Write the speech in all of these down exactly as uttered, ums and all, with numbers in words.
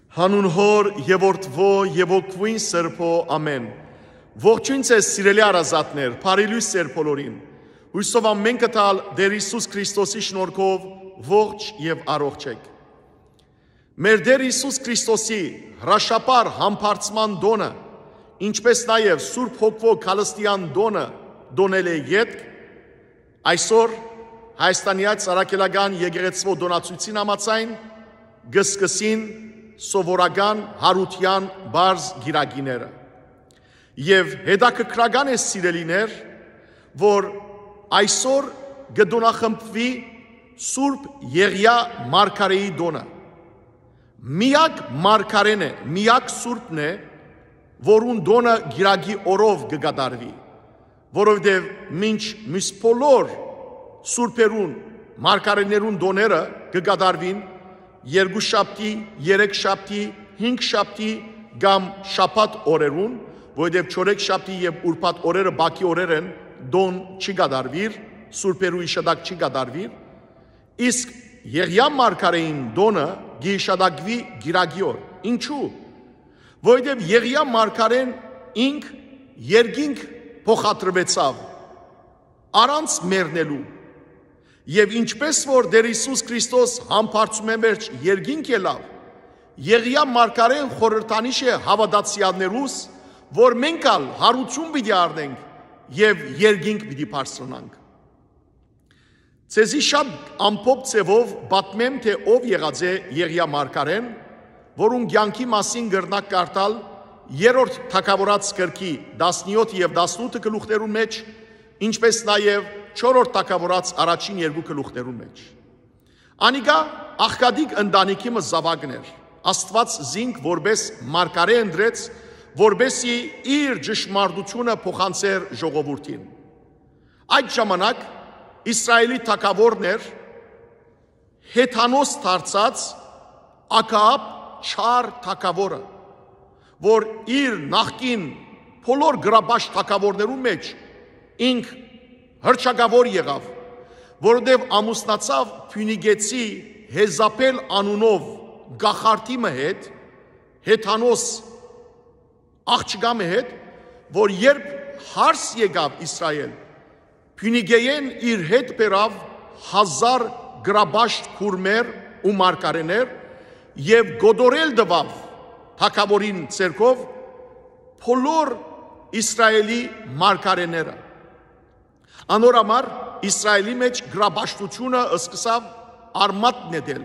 Հանուն Հօր եւ Որդւոյ եւ Հոգւոյն Սրբոյ, ամէն։ Ողջոյն ձեզ, սիրելի հարազատներ, բարի լոյս ձեր բոլորին։ Հոյսով ամէնքը տալ Տէր Յիսուս Քրիստոսի շնորհքով ողջ եւ առողջ եք։ Մեր Տէր Յիսուս Քրիստոսի հրաշափառ Համբարձման տօնը, ինչպէս նաեւ Սուրբ Հոգւոյ քալըստիան տօնը տօնել է ետք, այսօր Հայաստանեայ Առաքելական Եկեղեցւոյ տօնացոյցին համաձայն կը սկսին սովորական Յարութեան պարզ կիրակիները։ Եւ հետաքրքրական է, սիրելիներ, որ այսօր կը տօնախմբուի Սուրբ Եղիա Մարգարէի տօնը։ Միակ մարգարէն է, միակ սուրբն է, որուն տօնը կիրակի օրով կը կատարուի, որովհետեւ մինչ մյուս բոլոր սուրբերուն, մարգարէներուն տօները կը կատարուին երկուշաբթի, երեքշաբթի, հինգշաբթի կամ շաբաթ օրերուն, որովհետեւ չորեքշաբթի եւ ուրբաթ օրերը բակի օրեր են, տօն չի կատարուիր, սուրբերու իշատակ չի կատարուիր, իսկ Եղիա մարգարէին տօնը կը յիշատակուի կիրակի օր։ Ինչու՞։ Որովհետեւ Եղիա մարգարէն ինք երկինք փոխադրուեցաւ, առանց մեռնելու։ Եւ ինչպէս որ Տէր Յիսուս Քրիստոս Համբարձումէն վերջ երկինք ելաւ, Եղիա մարգարէն խորհրդանիշ է հաւատացեալներուս, որ մենք ալ յարութիւն պիտի առնենք եւ երկինք պիտի բարձրանանք։ Ձեզի շատ ամփոփ ձեւով պատմեմ, թէ ով եղած է Եղիա մարգարէն, որուն կեանքի մասին կրնաք կարդալ Երրորդ Թագաւորաց գրքի տասնեօթ եւ տասնութ գլուխներուն մէջ, ինչպէս նաեւ Չորրորդ Թագաւորաց առաջին երկու գլուխներուն մէջ։ Անիկա աղքատիկ ընտանիքի մը զաւակն էր։ Աստուած զինք որպէս մարգարէ ընտրեց, որպէսզի իր ճշմարտութիւնը փոխանցէր ժողովուրդին։ Այդ ժամանակ Իսրայէլի թագաւորն էր Հեթանոս դարձած Աքաապ չար թագաւորը, որ իր նախկին բոլոր գրաբաշ թագաւորներուն մէջ ինք հռչակաւոր եղաւ, որովհետեւ ամուսնացաւ փիւնիկեցի Հեզապէլ անունով կախարդի մը հետ, Հեթանոս աղջկայ մը հետ, որ երբ հարս եկաւ Իսրայէլ, Փիւնիկէէն իր հետ բերաւ հազար գրաբաշտ քուրմեր ու մարգարէներ եւ կոտորել տուաւ թագաւորին ձեռքով բոլոր Իսրայէլի մարգարէները։ Անոր համար Իսրայէլի մէջ գրաբաշտութիւնը սկսաւ արմատ նետել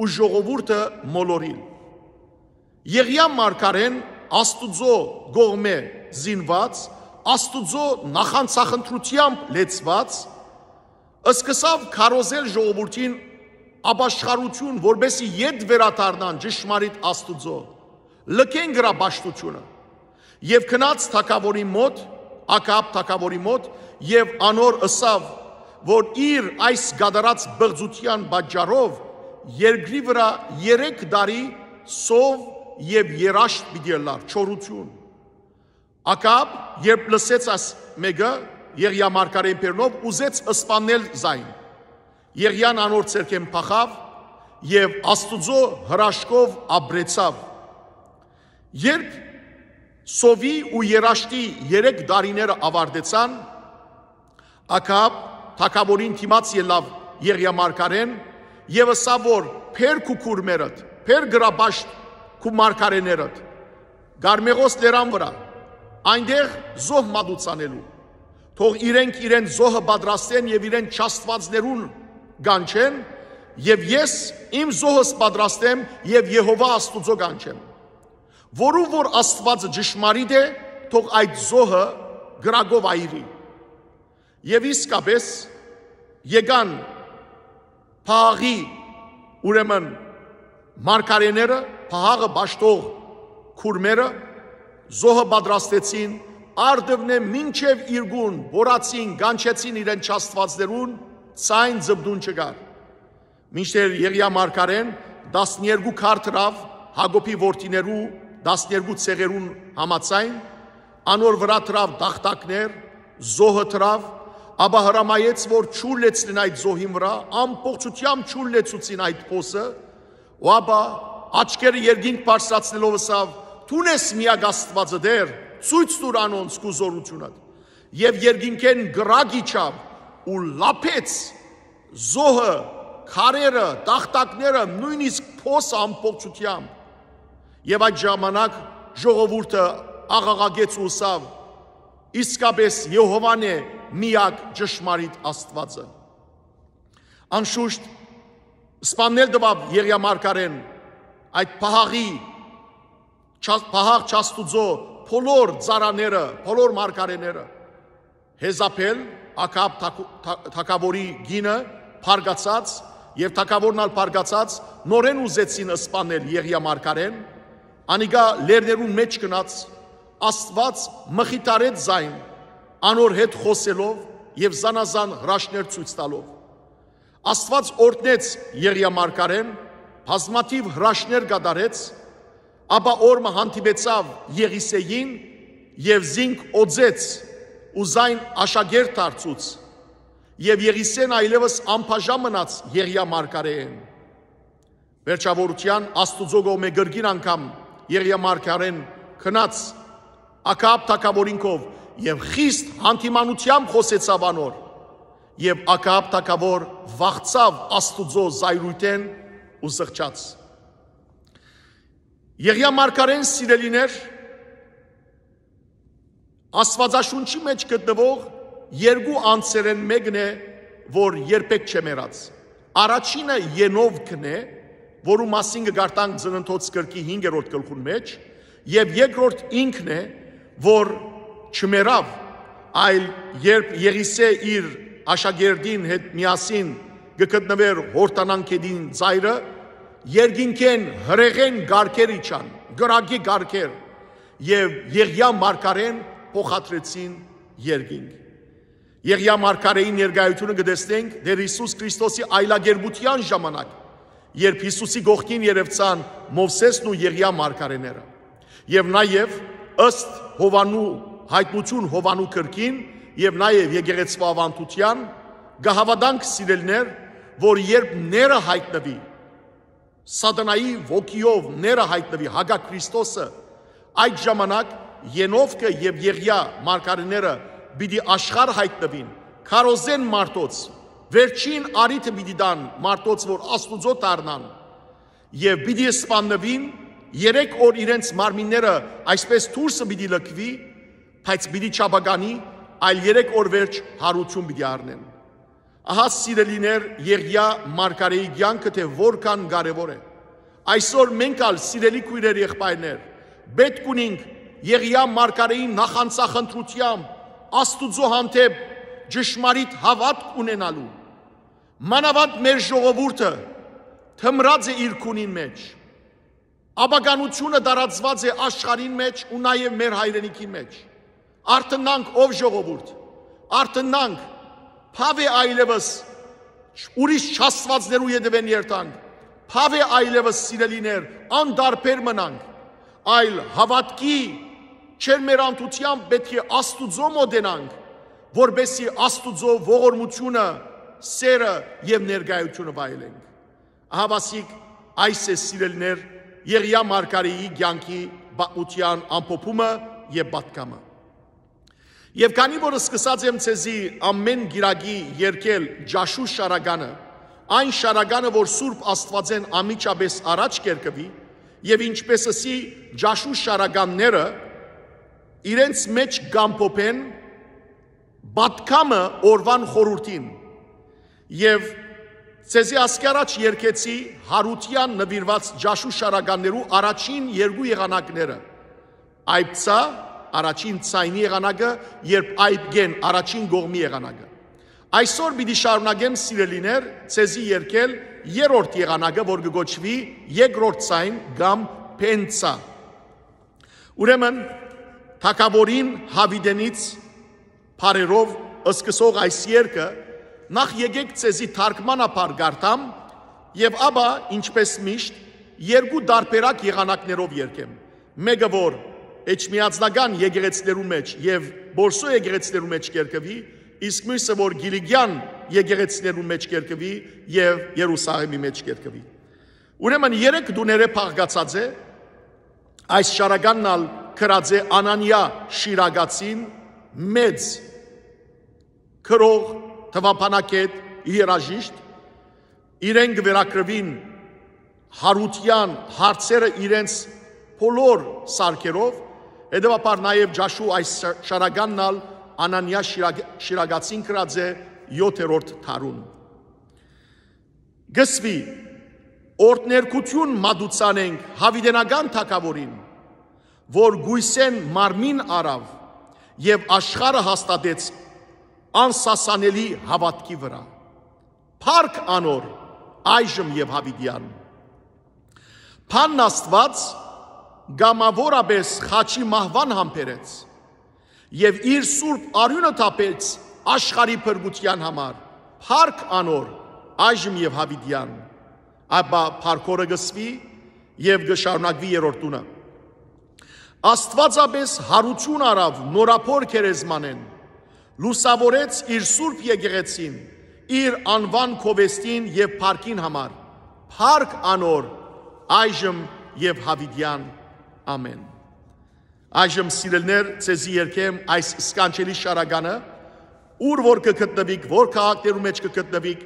ու ժողովուրդը մոլորիլ։ Եղիա մարգարէն Աստուծոյ կողմէ զինուած, Աստուծոյ նախանձախնդրութեամբ լեցուած, սկսաւ քարոզել ժողովուրդին ապաշխարութիւն, որպէսզի ետ վերադառնան ճշմարիտ Աստուծոյ, լքեն գրաբաշտութիւնը։ Եւ գնաց թագաւորին մօտ, Աքաապ թագաւորին մօտ, եւ անոր ըսաւ, որ իր այս կատարած պղծութեան պատճառով երկրի վրայ երեք տարի սով եւ երաշտ պիտի ըլլար, չորութիւն։ Աքաապ, երբ լսեց այս մէկը, Եղիա մարգարէին բերնով, ուզեց սպաննել զայն։ Եղիան անոր ձեռքէն փախաւ եւ Աստուծոյ հրաշքով ապրեցաւ։ Երբ սովի ու երաշտի երեք տարիները աւարտեցան, Աքաապ թագաւորին դիմաց ելաւ Եղիա մարգարէն եւ ըսաւ, որ «Բեր քու քուրմերդ, բեր գրաբաշտ քու մարգարէներդ Կարմեղոս լերան վրայ, այնտեղ զոհ մատուցանելու։ Թող իրենք իրենց զոհը պատրաստեն եւ իրենց չաստուածներուն կանչեն, եւ ես իմ զոհս պատրաստեմ եւ Եհովա Աստուծոյ կանչեմ։ Որու որ Աստուածը ճշմարիտ է, թող այդ զոհը կրակով այրի»։ Եւ իսկապէս եկան Փաղի, ուրեմն մարգարէները, Փաղը պաշտող քուրմերը, զոհը պատրաստեցին, արդունէ մինչեւ իրկուն, որացին, կանչեցին իրենց չաստուածներուն, ցայն ձպտուն չկար։ Մինչդեռ Եղիա մարգարէն տասներկու քար դրաւ Յակոբի որդիներու տասներկու ցեղերուն համաձայն, անոր վրայ դրաւ տախտակներ, զոհը դրաւ, ապա հրամայեց, որ ջուր լեցնեն այդ զոհին վրայ, ամբողջութեամբ ջուր լեցուցին այդ փոսը, ու ապա Աչքերը երկինք բարձրացնելով ըսաւ. «Դուն ես միակ Աստուածը, Տէր, ցոյց տուր անոնց քու զօրութիւնդ»։ Եւ երկինքէն կրակ իջաւ ու լափեց զոհը, քարերը, տախտակները, նոյնիսկ փոսը ամբողջութեամբ։ Եւ այդ ժամանակ ժողովուրդը աղաղակեց ու ըսաւ. «Իսկապէս Եհովան է միակ ճշմարիտ Աստուածը»։ Անշուշտ, սպաննել տուաւ Եղիա մարգարէն այդ պահաղի, չա-, պահաղ չաստուծոյ բոլոր ծառաները, բոլոր մարգարէները։ Հեզապէլ, Աքաբ թագ-, թա-, թագաւորի կինը, բարկացած, եւ թագաւորն ալ բարկացած, նորէն ուզեցին սպանել Եղիա մարգարէն։ Անիկա լեռներուն մէջ գնաց, Աստուած մխիթարեց զայն, անոր հետ խօսելով եւ զանազան հրաշքներ ցոյց տալով։ Աստուած օրհնեց Եղիա մարգարէն, բազմաթիւ հրաշքներ կատարեց, ապա օր մը հանդիպեցաւ Եղիսեին եւ զինք օծեց ու զայն աշակերտ դարձուց։ Եւ Եղիսեն այլեւս անբաժան մնաց Եղիա մարգարէէն։ Վերջաւորութեան Աստուծոյ կողմէ կրկին անգամ Եղիա մարգարէն գնաց Աքաբ թագաւորին քով եւ խիստ հանդիմանութեամբ խօսեցաւ անոր, եւ Աքաբ թագաւոր վախցաւ Աստուծոյ զայրոյթէն ու զղջաց։ Եղիա մարգարէն, սիրելիներ, Աստուածաշունչի մէջ գտնուող երկու անձերէն մէկն է, որ երբեք չեմ ըրած։ Առաջինը Ենովքն է, որու մասին կը կարդանք Ծննդոց գրքի հինգերորդ գլխուն մէջ, եւ երկրորդ ինքն է, որ չմեռաւ, այլ երբ Եղիսէ իր աշակերտին հետ միասին կը գտնուէր Յորդանան գետին ծայրը, երկինքէն հրեղէն կարգեր իջան, կրակի կարգեր, եւ Եղիա մարգարէն փոխադրեցին երկինք։ Եղիա մարգարէին ներկայությունը կը տեսնենք Տէր Յիսուս Քրիստոսի այլակերպութեան ժամանակ, երբ Յիսուսի կողքին երեւցան Մովսէսն ու Եղիա մարգարէները։ Եւ նաեւ, ըստ Յովհաննու, Յայտնութիւն Յովհաննու գրքին եւ նաեւ եկեղեցւոյ աւանդութեան, կը հաւատանք, սիրելիներ, որ երբ ները յայտնուի, Սատանայի ոգիով ները յայտնուի, հակա Քրիստոսը, այդ ժամանակ Ենովքը եւ Եղիա մարգարէները պիտի աշխարհ յայտնուին, քարոզեն մարդոց, վերջին առիթը պիտի տան մարդոց, որ Աստուծոյ դառնան, եւ պիտի սպաննուին, երեք օր իրենց մարմինները այսպես դուրսը պիտի լքուի, բայց պիտի չապականի, այլ երեք օր վերջ յարութիւն պիտի առնեն։ Ահա, սիրելիներ, Եղիա մարգարէի կեանքը թէ որքան կարեւոր է։ Այսօր մենք ալ, սիրելի քոյրեր, եղբայրներ, պէտք ունենք Եղիա մարգարէին նախանձախնդրութեամբ Աստուծոյ հանդէպ ճշմարիտ հաւատք ունենալու։ Մանաւանդ մեր ժողովուրդը թմրած է իր քունին մէջ։ Ապականութիւնը տարածուած է աշխարհին մէջ ու նաեւ մեր հայրենիքին մէջ։ Արթնանք, ով ժողովուրդ, արթնանք, բաւ է այլեւս ուրիշ չաստուածներու ետեւէն երթանք, բաւ է այլեւս, սիրելիներ, անտարբեր մնանք, այլ հաւատքի չերմերանթութեամբ պէտք է Աստուծոյ մօտենանք, որպէսզի Աստուծոյ ողորմութիւնը, սերը եւ ներկայութիւնը վայելենք։ Ահա, ասիկ, այս է, սիրելիներ, Եղիա մարգարէի կեանքի պատմութեան ամփոփումը եւ պատգամը։ Եւ քանի որ սկսած եմ ձեզի ամէն կիրակի երգել Ճաշու շարականը, այն շարականը, որ Սուրբ Աստուածէն անմիջապէս առաջ կերկուի, եւ ինչպես ըսի, Ճաշու շարականները իրենց մէջ կամփոփեն պատգամը օրուան խորհուրդին, եւ ձեզի ասկի առաջ երգեցի յարութեան նուիրուած Ճաշու շարականներու առաջին երկու եղանակները, այբցա, առաջին ձայնի եղանակը, երբ այբ կեն, առաջին կողմի եղանակը։ Այսօր պիտի շարունակեմ, սիրելիներ, ձեզի երգել երրորդ եղանակը, որ կը կոչուի երկրորդ ձայն կամ փենցա։ Ուրեմն, թագաւորին Յաւիտենից բառերով սկսող այս երգը նախ եկեք ձեզի թարգմանաբար կարդամ եւ ապա, ինչպես միշտ, երկու տարբերակ եղանակներով երգեմ։ Մէկը, որ էջմիածնական եկեղեցիներու մէջ եւ Պոլսոյ եկեղեցիներու մէջ կերկուի, իսկ միւսը, որ Կիլիկեան եկեղեցիներու մէջ կերկուի եւ Երուսաղէմի մէջ կերկուի։ Ուրեմն երեք տուներէ փաղկացած է, այս շարականն ալ գրած է Անանիա Շիրակացին, մեծ գրող, թուաբանագէտ, երաժիշտ, իրեն կը վերագրուին յարութեան հարցերը իրենց բոլոր սարքերով, հետեւաբար նաեւ ճաշու այս շ-, շարականն ալ Անանիա Շիրակ-, Շիրակացին գրած է յոթերորդ դարուն։ Կսուի, օրհներգութիւն մատուցան ենք յաւիտենական թագաւորին, որ կոյսէն մարմին առաւ եւ աշխարհը հաստատեց անսասանելի հաւատքի վրայ։ Փառք անոր այժմ եւ յաւիտեան։ Բանն Աստուած կամաւորապէս խաչի մահուան համբերեց եւ իր սուրբ արիւնը թափեց աշխարհի փրկութեան համար։ Փառք անոր այժմ եւ յաւիտեան։ Ապա փառքորը կսուի եւ կը շարունակուի երրորդ տունը։ Աստուածապէս յարութիւն առաւ նորաբոր գերեզմանէն, լուսաւորեց իր սուրբ եկեղեցին, իր անուան գովեստին եւ փառքին համար։ Փառք անոր այժմ եւ յաւիտեան։ Ամեն։ Այժմ, սիրելիներ, ձեզի երգեմ այս սքանչելի շարականը, ուր որ կը գտնուիք, որ քաղաքներու մէջ կը գտնուիք,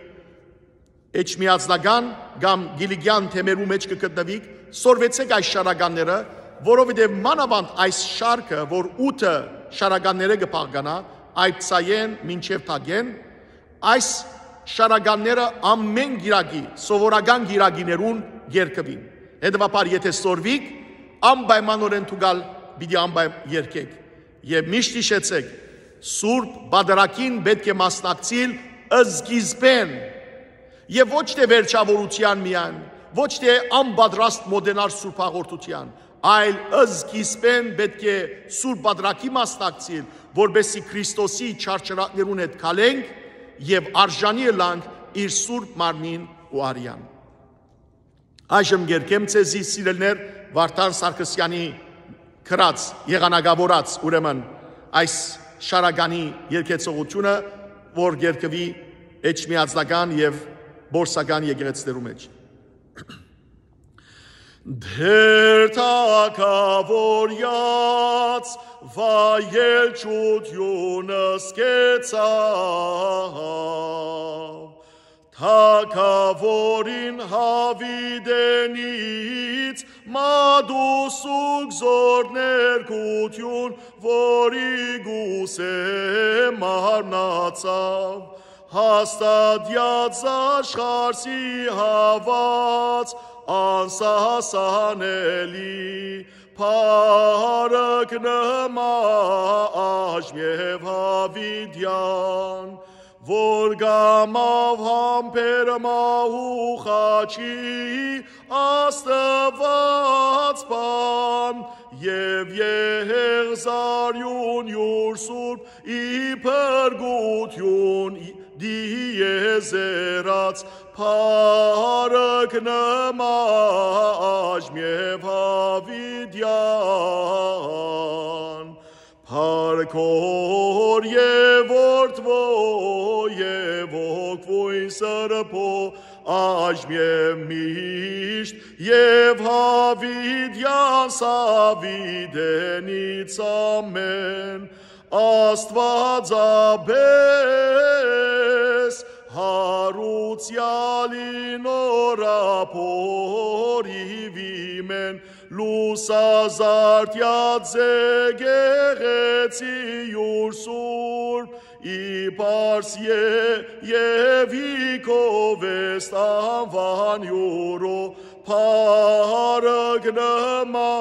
էջմիածնական կամ կիլիկեան թեմերու մէջ կը գտնուիք, սորվեցէք այս շարականները, որովհետեւ մանաւանդ այս շարքը, որ ութը շարականներէ կը բաղկանայ, այբցայէն մինչեւ թագէն, այս շարականները ամեն կիրակի, սովորական կիրակիներուն կերկուին։ Հետեւաբար, եթե սորվիք, անպայմանօրէն դուք ալ պիտի անպայ-, երգեք։ Եւ միշտ յիշեցեք, Սուրբ Պատարագին պէտք է մասնակցիլ սկիզբէն եւ ոչ թէ վերջաւորութեան միայն, ոչ թէ անպատրաստ մօտենար Սուրբ Հաղորդութեան, այլ սկիզբէն պէտք է Սուրբ Պատարագի մասնակցիլ, որպեսզի Քրիստոսի չարչարանքներուն հետ քալենք եւ արժանի ըլանք իր Սուրբ Մարմնին ու արեան։ Այժմ կերգեմ ձեզի, սիրելիներ, Վարդան Սարգսեանի գրած, եղանակավորած, ուրեմն, այս շարականի երգեցողությունը, որ կերգուի էջմիածնական եւ պոլսական եկեղեցիներու մէջ։ Դեր թագաւորեաց վայելչութիւնը սկեցաւ, թագաւորին յաւիտենից մատուցուկ զօրներգութիւն, որի կուսէ մարմնացաւ, հաստատեաց աշխարհի հաւած անսասանելի, փառք նմա այժմ եւ յաւիտեան, որ կամաւ համբեր մահու խաչի Աստուած Բան եւ Եղզարիւն յուր սուրբ ի փրկութիւն դիեզերաց, փառք նմա այժմ եւ յաւիտեան։ Փառք Հօր եւ Որդի եւ Հոգի Սրբի, այժմ եւ միշտ եւ յաւիտեան սաւիտենից ամէն։ Աստուածապէս յարուցեալի նորաբորիւի մէն, լուսազարդեաց եկեղեցի յուր սուրբ, ի պարս ե-, եւ ի գովեստ անուան յուրու, փառք նմա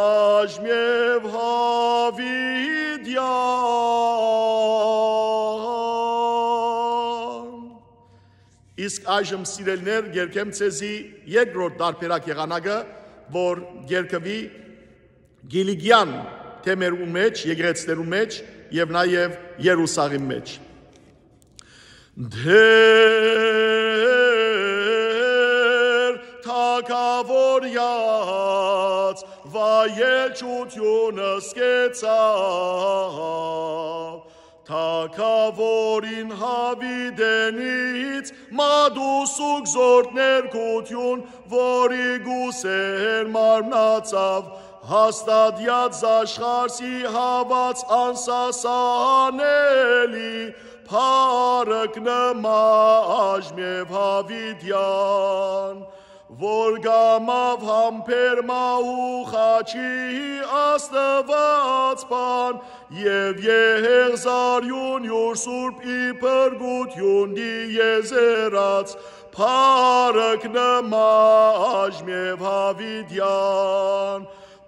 այժմ եւ յաւիտեան։ Իսկ այժմ, սիրելիներ, կերգեմ ձեզի երկրորդ տարբերակ եղանակը, որ կերգուի Կիլիկեան թեմերուն մէջ, եկեղեցիներուն մէջ եւ նաեւ Երուսաղեմ մէջ։ Դեր թագաւորեաց վայելչութիւնը սկեցաւ, Թագաւորին յաւիտենից մատուցուկ զորդ ներկութիւն, որ ի կուսեր մարմնացաւ, հաստատեաց զաշխարհի հաւած անսասանելի, փառք նմա Աժմեւ Յաւիտեան, որ կամաւ համբեր մահու խաչի Աստուածպան, եւ եղեգ զարիւն իւր սուրբ ի փրկութիւն դիեզերաց, փառք նմա Աժմեւ Յաւիտեան,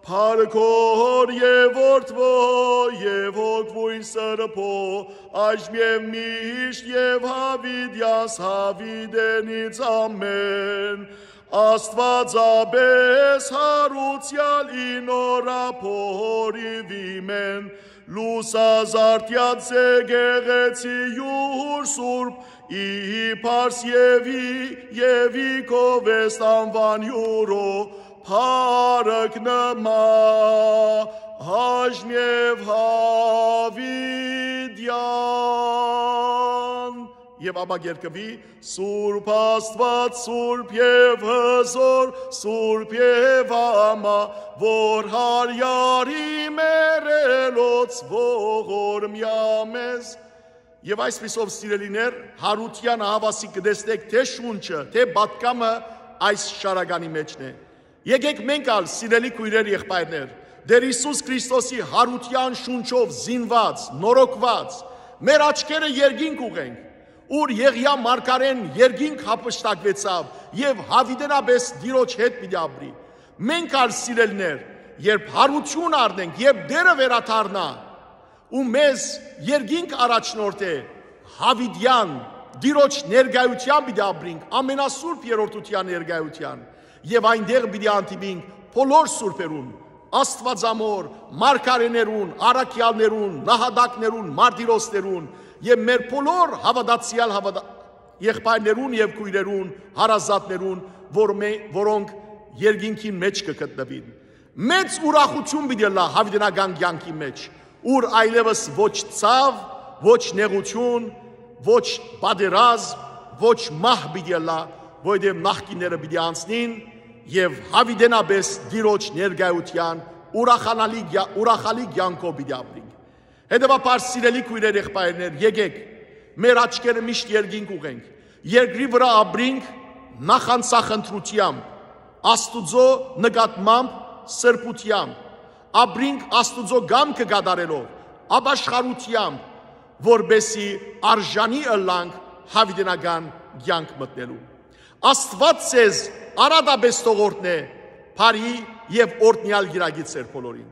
փառքոր եւ որդւոյ եւ հոգւոյն սրբոյ, Աժմեւ միշտ եւ յաւիտեանս յաւիտենից ամէն, Աստուածապէս յարուցեալ ի նորաբորիւի մէն, լուսազարդեաց եկեղեցի իւր սուրբ, ի պարս եւ ի, եւ ի գովեստ անուան իւրոյ, փառք նմա Աժմեւ Յաւիտեան։ Եւ ապա կ'երգուի. Սուրբ Աստուած, սուրբ եւ հզօր, սուրբ եւ ամա, որ Յարի մեռելոց ողորմեաց մեզ։ Եւ այսպիսով, սիրելիներ, յարութեան ահաւասիկ կը տեսնէք թէ շունչը, թէ պատգամը այս շարականի մէջն է։ Եկէք մենք ալ, սիրելի քոյրեր, եղբայրներ, Տէր Յիսուս Քրիստոսի յարութեան շունչով զինուած, նորոգուած, մեր աչքերը երկինք ուղենք, ուր Եղիա մարգարէն երկինք յափշտակուեցաւ եւ յաւիտենապէս Տիրոջ հետ պիտի ապրի։ Մենք ալ, սիրելիներ, երբ յարութիւն առնենք, երբ Տէրը վերադառնայ ու մեզ երկինք առաջնորդէ, յաւիտեան, Տիրոջ ներկայութեան պիտի ապրինք, ամենասուրբ երրորդութեան ներկայութեան, եւ այնտեղ պիտի հանդիպինք բոլոր սուրբերուն, Աստուածամոր մարգարէներուն, առաքեալներուն, նահատակներուն, մարտիրոսներուն եւ մեր բոլոր հաւատացեալ հաւատա-, եղբայրներուն եւ քոյրերուն, հարազատներուն, որ մե-, որոնք երկինքին մէջ կը գտնուին։ Մեծ ուրախութիւն պիտի ըլլայ յաւիտենական կեանքի մէջ, ուր այլեւս ոչ ցաւ, ոչ նեղութիւն, ոչ պատերազմ, ոչ մահ պիտի ըլլայ, որովհետեւ նախկինները պիտի անցնին եւ յաւիտենապէս Տիրոջ ներկայութեան ուրախանալի կեա-, ուրախալի կեանքով պիտի ապրինք։ Հետեւաբար, սիրելի քոյրեր, եղբայրներ, եկէք մեր աչքերը միշտ երկինք ուղենք, երկրի վրայ ապրինք նախանձախնդրութեամբ, Աստուծոյ նկատմամբ սրբութեամբ, ապրինք Աստուծոյ կամքը կատարելով, ապաշխարութեամբ, որպեսզի արժանի ըլլանք յաւիտենական կեանք մտնելու։ Աստուած ձեզ արատապէս թող օրհնէ բարի եւ օրհնեալ կիրակի ձեր բոլորին։